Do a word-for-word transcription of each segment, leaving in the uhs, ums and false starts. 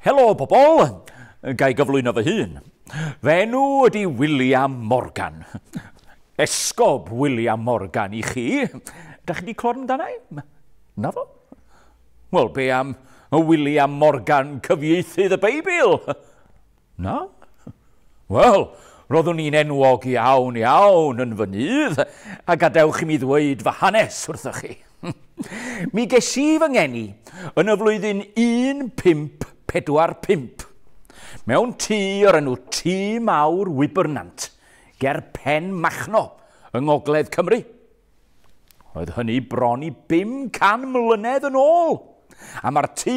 Helo bobol, ga i gyflwyno fy hun. Fy enw ydy William Morgan. Esgob William Morgan i chi. Da chi wedi clywed amdana i? Na fo? Wel, be am William Morgan cyfieithydd y Beibl? Na? Wel, roeddwn i'n enwog iawn iawn yn fy nydd, a gadewch i mi ddweud fy hanes wrthych chi. Mi ges i fy ngeni yn y flwyddyn un pump pedwar pump, mewn tŷ o'r enw Tŷ Mawr Wybernant, ger Pen Machno yng Ngogledd Cymru. Oedd hynny bron i bum can mlynedd yn ôl, a mae'r tŷ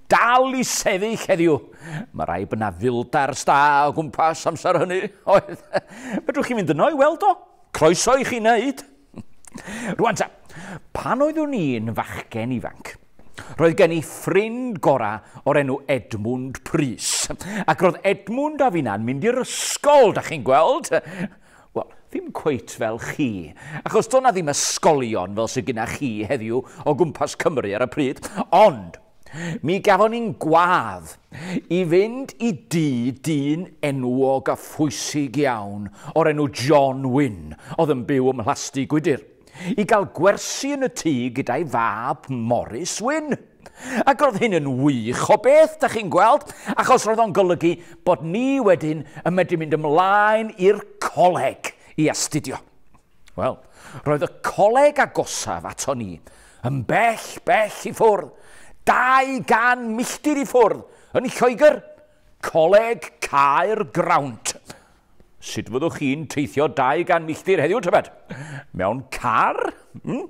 dal i sefyll heddiw. Mae rhaid bod 'na fildars da o gwmpas amser hynny, oedd. Fedrwch chi fynd yno i weld o? Croeso i chi wneud. Rwan ta, pan oeddwn i'n fachgen ifanc, roedd gen i ffrind gorau o'r enw Edmund Prys. Ac roedd Edmund a finna'n mynd i'r ysgol, da chi'n gweld? Wel, ddim cweit fel chi, achos doedd 'na ddim ysgolion fel sydd gyda chi heddiw o gwmpas Cymru ar y pryd. Ond mi gafon ni'n gwadd i fynd i dŷ dyn enwog a phwysig iawn o'r enw John Wynne, oedd yn byw ym Mhlasty Gwydyr, i gael gwersi yn y tŷ gyda'i fab Morris Wynne. Ac roedd hyn yn wych o beth, da chi'n gweld, achos roedd o'n golygu bod ni wedyn yn medru mynd ymlaen i'r coleg i astudio. Wel, roedd y coleg agosaf ato ni yn bell, bell i ffwrdd, dau gan milltir i ffwrdd, yn Lloegr, Coleg Caergrawnt. Sut fyddwch chi'n teithio dau gan milltir heddiw, tybed? Mewn car? Hmm?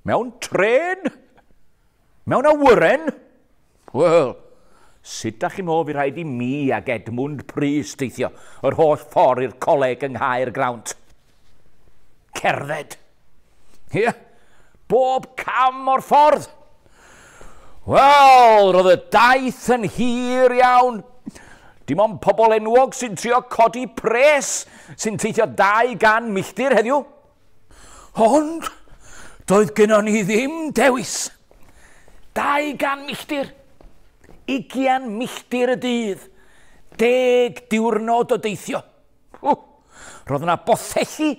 Mewn tren? Mewn awyren? Wel, sut da chi'n meddwl fi rhaid i mi ag Edmund Prys teithio yr holl ffordd i'r coleg yng Nghaergrawnt? Cerdded. Ie, yeah. Bob cam o'r ffordd. Wel, roedd y daith yn hir iawn. Dim ond pobl enwog sy'n trio codi pres sy'n teithio dau gan milltir heddiw. Ond doedd gynnon ni ddim dewis. Dau gan milltir, ugian milltir y dydd, deg diwrnod o deithio. Roedd yna bothelli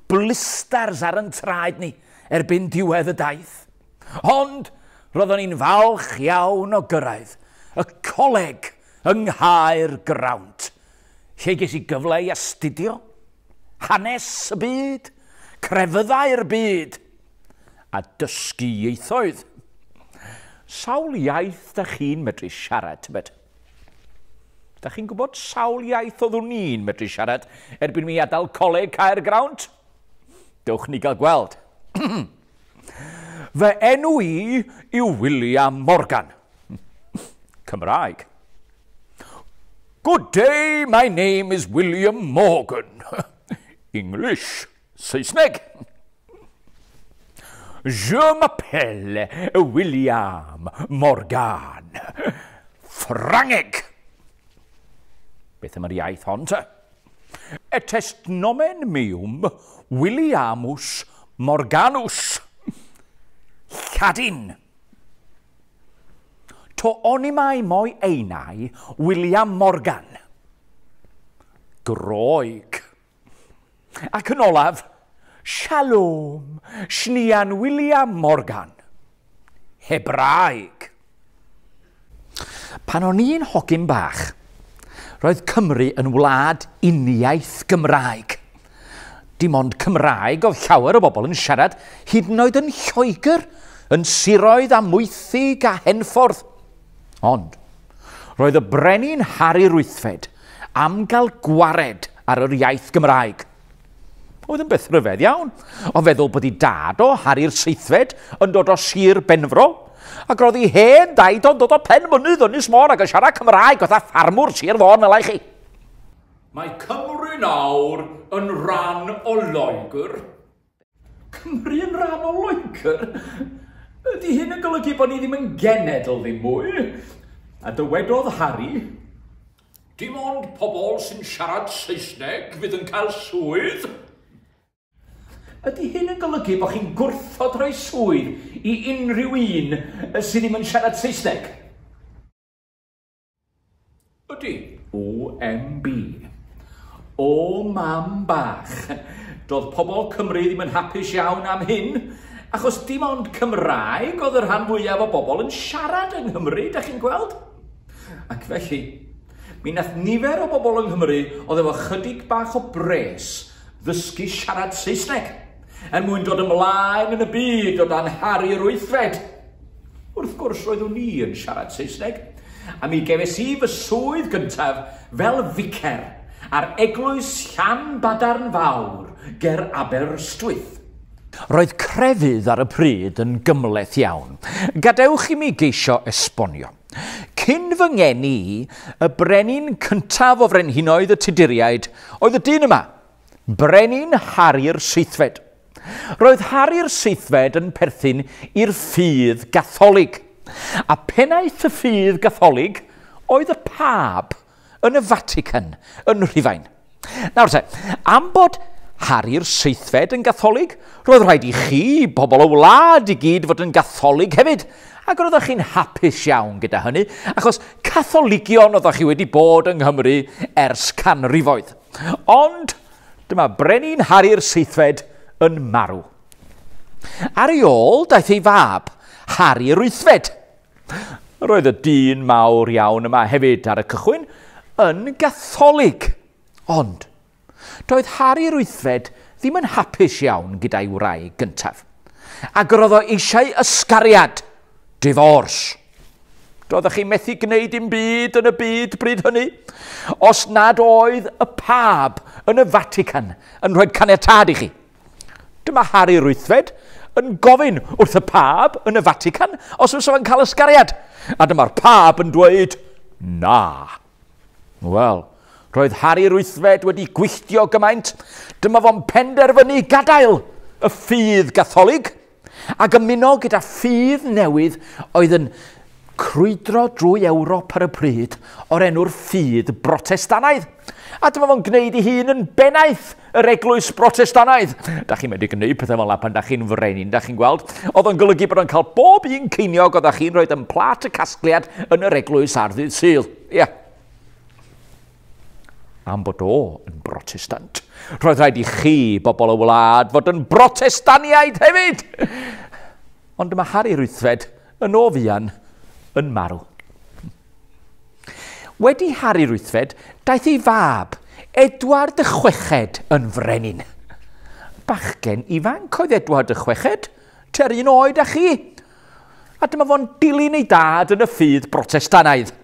blistars ar yn traed ni erbyn diwedd y daith. Ond roeddwn ni'n falch iawn o gyrraedd y coleg yng Nghaergrawnt, lle ges i gyfle i astudio hanes y byd, crefyddau'r byd, a dysgu ieithoedd. Sawl iaith da chi'n medru siarad, tybed? Da chi'n gwybod sawl iaith oeddwn ni'n medru siarad erbyn mi adael Coleg Caergrawnt? Dewch ni gael gweld. Fy enw i yw William Morgan. Cymraeg. Good day, my name is William Morgan. English, Saesneg. Je m'appelle William Morgan. Ffrangeg. Beth am yr iaith hon te? Et est nomen meum Williamus Morganus. Lladin. To onimai moi einai William Morgan. Groeg. Ac yn olaf, Shalom, Shnian William Morgan. Hebraeg. Pan o'n i'n hogyn bach, roedd Cymru yn wlad uniaith Gymraeg. Dim ond Cymraeg oedd llawer o bobl yn siarad, hyd yn oed yn Lloegr, yn siroedd a Mwythig a Henffordd. Ond, roedd y brenin Harri'r Wythfed am gael gwared ar yr iaith Gymraeg. Oedd yn beth rhyfedd iawn, o feddwl bod ei dad o, Harri'r Seithfed, yn dod o Sir Benfro, ac roedd ei hen daid o'n dod o Penmynydd Ynys Môn ac yn siarad Cymraeg fatha ffarmwr Sir Fôn fel chi. Mae Cymru nawr yn rhan o Loegr. Cymru yn rhan o Loegr? Ydy hyn yn golygu bod ni ddim yn genedl ddim mwy? A dywedodd Harry, dim ond pobl sy'n siarad Saesneg fydd yn cael swydd. Ydy hyn yn golygu bod chi'n gwrthod rhoi swydd i unrhyw un sydd ddim yn siarad Saesneg? O M B. O mam bach. Doedd pobl Cymru ddim yn hapus iawn am hyn, achos dim ond Cymraeg oedd y rhan fwyaf o bobl yn siarad yng Nghymru, da chi'n gweld? Ac felly, mi nath nifer o bobl yng Nghymru oedd efo chydig bach o bres ddysgu siarad Saesneg, er mwyn dod ymlaen yn y byd o dan Harri'r Wythfed. Wrth gwrs roeddwn i yn siarad Saesneg, a mi gefes i fy swydd gyntaf fel ficer ar eglwys Llanbadarn Fawr ger Aberystwyth. Roedd crefydd ar y pryd yn gymhleth iawn. Gadewch i mi geisio esbonio. Cyn fy ngeni i, y brenin cyntaf o frenhinoedd y Tuduriaid oedd y dyn yma, Brenin Harri'r Seithfed. Roedd Harri'r Seithfed yn perthyn i'r ffydd Gatholig, a pennaeth y ffydd Gatholig oedd y Pab yn y Vatican yn Rhufain. Nawr te, am bod Harri'r Seithfed yn Gatholig, roedd rhaid i chi, bobl y wlad i gyd, fod yn Gatholig hefyd, ac roeddech chi'n hapus iawn gyda hynny, achos Catholigion oeddech chi wedi bod yng Nghymru ers canrifoedd. Ond dyma Brenin Harri'r Seithfed yn marw. Ar ei ôl daeth ei fab, Harri'r Wythfed. Roedd y dyn mawr iawn yma hefyd ar y cychwyn yn Gatholig. Ond doedd Harri'r Wythfed ddim yn hapus iawn gyda'i wraig gyntaf, ac roedd o eisiau ysgariad, divorce. Doeddech chi methu gwneud dim byd yn y byd bryd hynny, os nad oedd y Pab yn y Vatican yn rhoi caniatâd i chi. Dyma Harri'r Wythfed yn gofyn wrth y Pab yn y Vatican os fysa fo'n cael ysgariad. A dyma'r Pab yn dweud, na. Wel, roedd Harri'r Wythfed wedi gwylltio gymaint. Dyma fo'n penderfynu gadael y ffydd Gatholig ac ymuno gyda ffydd newydd oedd yn crwydro drwy Ewrop ar y pryd o'r enw'r ffydd Brotestanaidd. A dyma fo'n gwneud ei hun yn bennaeth yr eglwys Brotestanaidd. Da chi'n medru gwneud pethau fel 'na pan da chi'n frenin, da chi'n gweld. Oedd o'n golygu bod o'n cael bob un ceiniog oeddech chi'n rhoi yn plat y casgliad yn yr eglwys ar ddydd Sul. Ie. Yeah. Am bod o yn Brotestant, roedd rhaid i chi, bobl y wlad, fod yn Brotestaniaid hefyd. Ond dyma Harri'r Wythfed yn o fuan yn marw. Wedi Harri'r Wythfed, daeth ei fab, Edward y Chweched, yn frenin. Bachgen ifanc oedd Edward y Chweched, tua'r un oed â chi. A dyma fo'n dilyn ei dad yn y ffydd Brotestanaidd.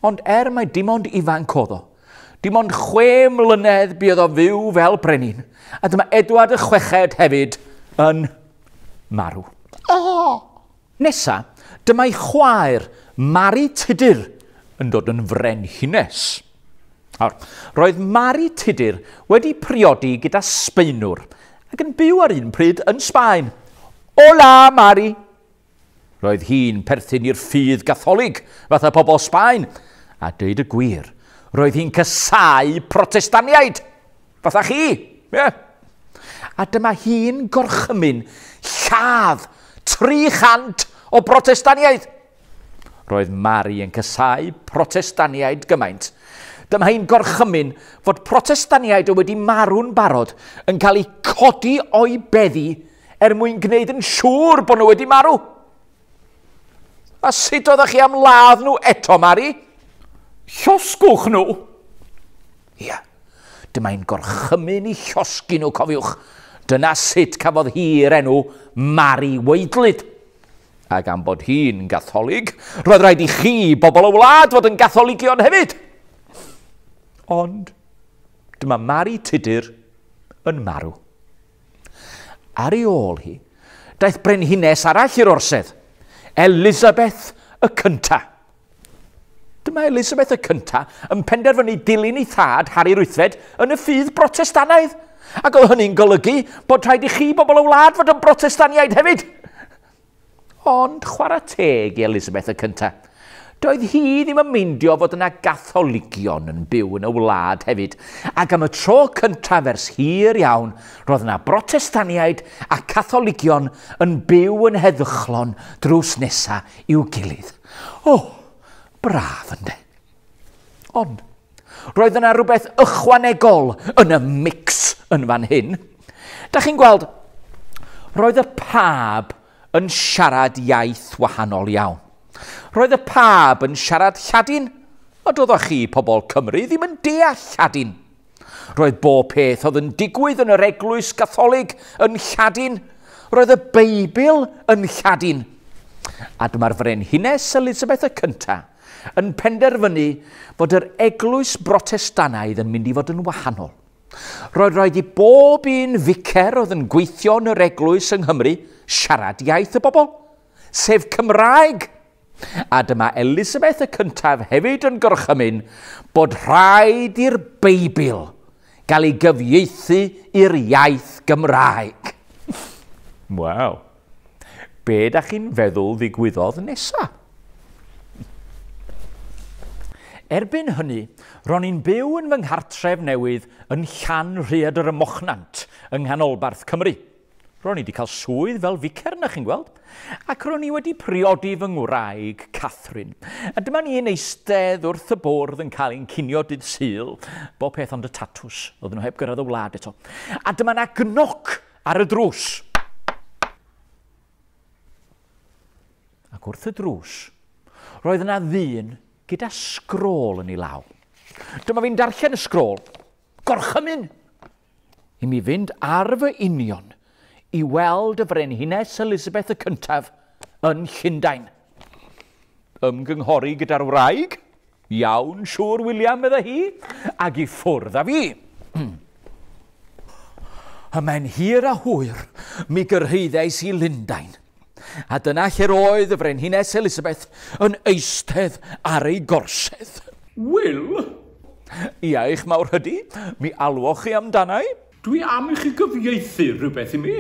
Ond er mai dim ond ifanc oedd o, dim ond chwe mlynedd buodd o fyw fel brenin, a dyma Edward y Chweched hefyd yn marw. Oh! Nesa, dyma'i chwaer, Mari Tudur, yn dod yn frenhines. Nawr, roedd Mari Tudur wedi priodi gyda Sbaenwr ac yn byw ar un pryd yn Sbaen. Hola, Mari! Roedd hi'n perthyn i'r ffydd Gatholig, fatha pobl Sbaen, a dweud y gwir, roedd hi'n casáu Protestaniaid, fatha chi. Yeah. A dyma hi'n gorchymyn lladd tri chant o Brotestaniaid. Roedd Mari yn casáu Protestaniaid gymaint. Dyma hi'n gorchymyn fod Protestaniaid oedd wedi marw'n barod yn cael eu codi o'i beddi er mwyn gwneud yn siŵr bod nhw wedi marw. A sut oeddech chi am ladd nhw eto, Mari? Llosgwch nhw! Ia, dyma hi'n gorchymyn i llosgi nhw, cofiwch. Dyna sut cafodd hi'r enw Mari Waedlyd. Ac am bod hi'n Gatholig, roedd rhaid i chi, bobl y wlad, fod yn Gatholigion hefyd. Ond dyma Mari Tudur yn marw. Ar ei ôl hi, daeth brenhines arall i'r orsedd, Elizabeth y Cynta. Dyma Elizabeth y Cynta yn penderfynu dilyn ei thad, Harri'r Wythfed, yn y ffydd Brotestanaidd. Ac oedd hynny'n golygu bod rhaid i chi, bobl y wlad, fod yn Brotestaniaid hefyd. Ond chwarae teg i Elizabeth y Cynta. Doedd hi ddim yn meindio fod yna Gatholigion yn byw yn y wlad hefyd. Ac am y tro cyntaf ers hir iawn, roedd yna Brotestaniaid a Catholigion yn byw yn heddychlon drws nesa i'w gilydd. O, braf ynde. Ond, Roedd yna rhywbeth ychwanegol yn y mix yn fan hyn. Da chi'n gweld, roedd y pab yn siarad iaith wahanol iawn. Roedd y pab yn siarad Lladin, a doeddech chi, pobl Cymru, ddim yn deall Lladin. Roedd bob peth oedd yn digwydd yn yr eglwys Gatholig yn Lladin. Roedd y Beibl yn Lladin. A dyma'r frenhines Elizabeth y Cyntaf yn penderfynu fod yr eglwys Brotestanaidd yn mynd i fod yn wahanol. Roedd rhaid i bob un ficer oedd yn gweithio yn yr eglwys yng Nghymru siarad iaith y bobl, sef Cymraeg. A dyma Elizabeth y Cyntaf hefyd yn gorchymyn bod rhaid i'r Beibl gael ei gyfieithu i'r iaith Gymraeg. Waw! Be da chi'n feddwl ddigwyddodd nesa? Erbyn hynny, ro'n i'n byw yn fy nghartref newydd yn Llanrhaeadr ym Mochnant yng nghanolbarth Cymru. Ro'n i wedi cael swydd fel ficer, na chi'n gweld, ac ro'n i wedi priodi fy ngwraig, Catherine. A dyma ni'n eistedd wrth y bwrdd yn cael ein cinio dydd Sul, bob peth ond y tatws, oedden nhw heb gyrraedd y wlad eto. A dyma na gnoc ar y drws. Ac wrth y drws, roedd yna ddyn gyda sgrôl yn ei law. Dyma fi'n darllen y sgrôl. Gorchymyn i mi fynd ar fy union i weld y frenhines Elizabeth y Cyntaf yn Llundain. Ymgynghori gyda'r wraig? Iawn, siŵr, William, medda hi, ac i ffwrdd â fi. Ymhen hir a hwyr, mi gyrhaeddais i Lundain. A dyna lle'r oedd y frenhines Elizabeth yn eistedd ar ei gorsedd. Will? Ia, eich mawrhydi, mi alwoch chi amdana i. Dwi am i chi gyfieithu rhywbeth i mi.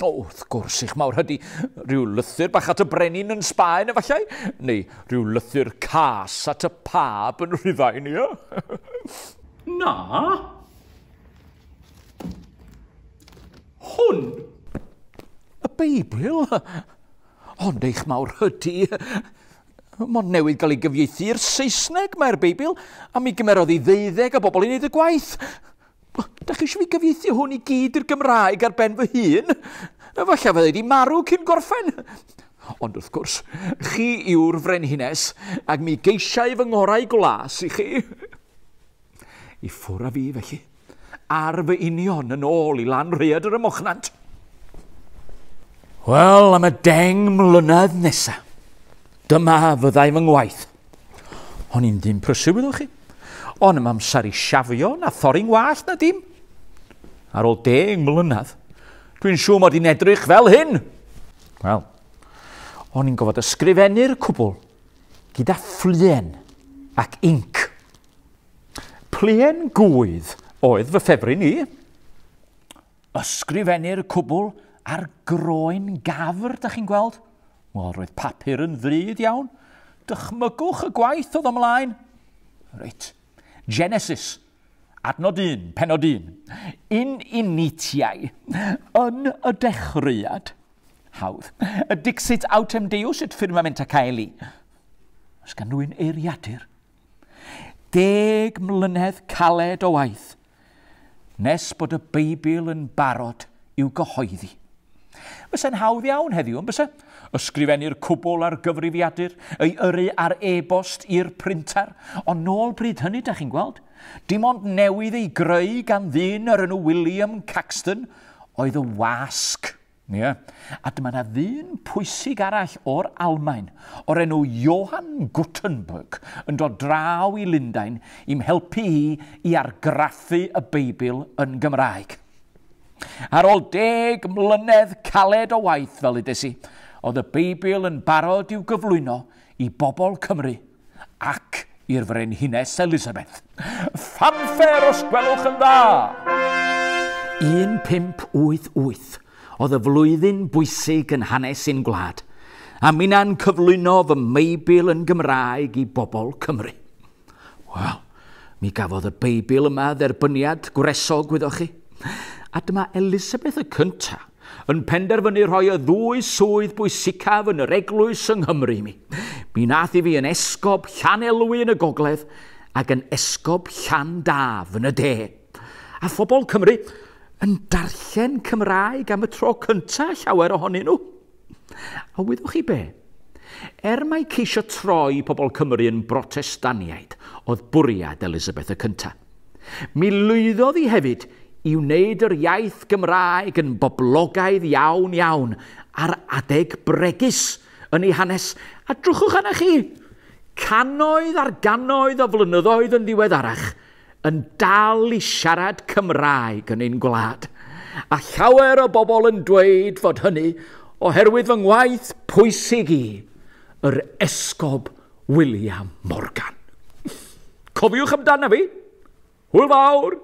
O, wrth gwrs eich mawrhydi, rhyw lythyr bach at y brenin yn Sbaen efallai, neu rhyw lythyr cas at y pab yn Rhufain, ia? Na. Hwn. Y Beibl? Ond eich mawrhydi, mond newydd gael ei gyfieithu i'r Saesneg mae'r Beibl, a mi gymerodd i ddeuddeg o bobl i wneud y gwaith. Da chi eisiau fi gyfieithu hwn i gyd i'r Gymraeg ar ben fy hun? Efallai fydda i wedi marw cyn gorffen. Ond wrth gwrs, chi yw'r frenhines, ac mi geisiau fy ngorau glas i chi. I ffwrdd â fi, felly, ar fy union yn ôl i Lanrhaeadr ym Mochnant. Wel, am y deng mlynedd nesaf, dyma fyddai fy ngwaith. O'n i'n ddyn prysur, wyddwch chi. O'n i'm amser i siafio na thorri'n wallt na dim. Ar ôl deng mlynedd, dwi'n siŵr mod i'n edrych fel hyn. Wel, o'n i'n gofod ysgrifennu'r cwbl gyda phluen ac inc. Pluen gwydd oedd fy ffefryn i. Ysgrifennu'r cwbl ar groen gafr, da chi'n gweld? Wel, roedd papur yn ddrud iawn. Dychmygwch y gwaith oedd ymlaen. Reit. Genesis, adnod un, penod un. In initiae, yn y dechreuad. Hawdd. Dixit autem Deus et firmamenta caeli. Oes gan rhywun eiriadur? Deg mlynedd caled o waith, nes bod y Beibl yn barod i'w gyhoeddi. Fysa'n hawdd iawn heddiw, yn bysa? Ysgrifennu'r cwbl ar gyfrifiadur, ei yrru ar e-bost i'r printer, ond nôl bryd hynny, da chi'n gweld? Dim ond newydd ei greu gan ddyn o'r enw William Caxton oedd y wasg. Yeah. A dyma na ddyn pwysig arall o'r Almaen, o'r enw Johann Gutenberg, yn dod draw i Lundain i'm helpu i i argraffu y Beibl yn Gymraeg. Ar ôl deg mlynedd caled o waith, fel ddudes i, oedd y Beibl yn barod i'w gyflwyno i bobl Cymru ac i'r frenhines Elizabeth. Fanfare os gwelwch yn dda! un pump wyth wyth oedd y flwyddyn bwysig yn hanes ein gwlad, a minna'n cyflwyno fy Meibl yn Gymraeg i bobl Cymru. Wel, mi gafodd y Beibl yma dderbyniad gwresog, wyddoch chi. A dyma Elizabeth y Cyntaf yn penderfynu rhoi y ddwy swydd bwysicaf yn yr eglwys yng Nghymru i mi. Mi nath i fi yn esgob Llanelwy yn y gogledd ac yn esgob Llandaf yn y de. A phobl Cymru yn darllen Cymraeg am y tro cyntaf llawer ohonyn nhw. A wyddwch chi be? Er mai ceisio troi pobl Cymru yn Brotestaniaid oedd bwriad Elizabeth y cyntaf, mi lwyddodd hi hefyd i wneud yr iaith Gymraeg yn boblogaidd iawn iawn ar adeg bregus yn ei hanes. A drychwch arna chi, cannoedd ar gannoedd o flynyddoedd yn ddiweddarach yn dal i siarad Cymraeg yn ein gwlad. A llawer o bobl yn dweud fod hynny oherwydd fy ngwaith pwysig i, yr Esgob William Morgan. Cofiwch amdano fi. Hwyl fawr!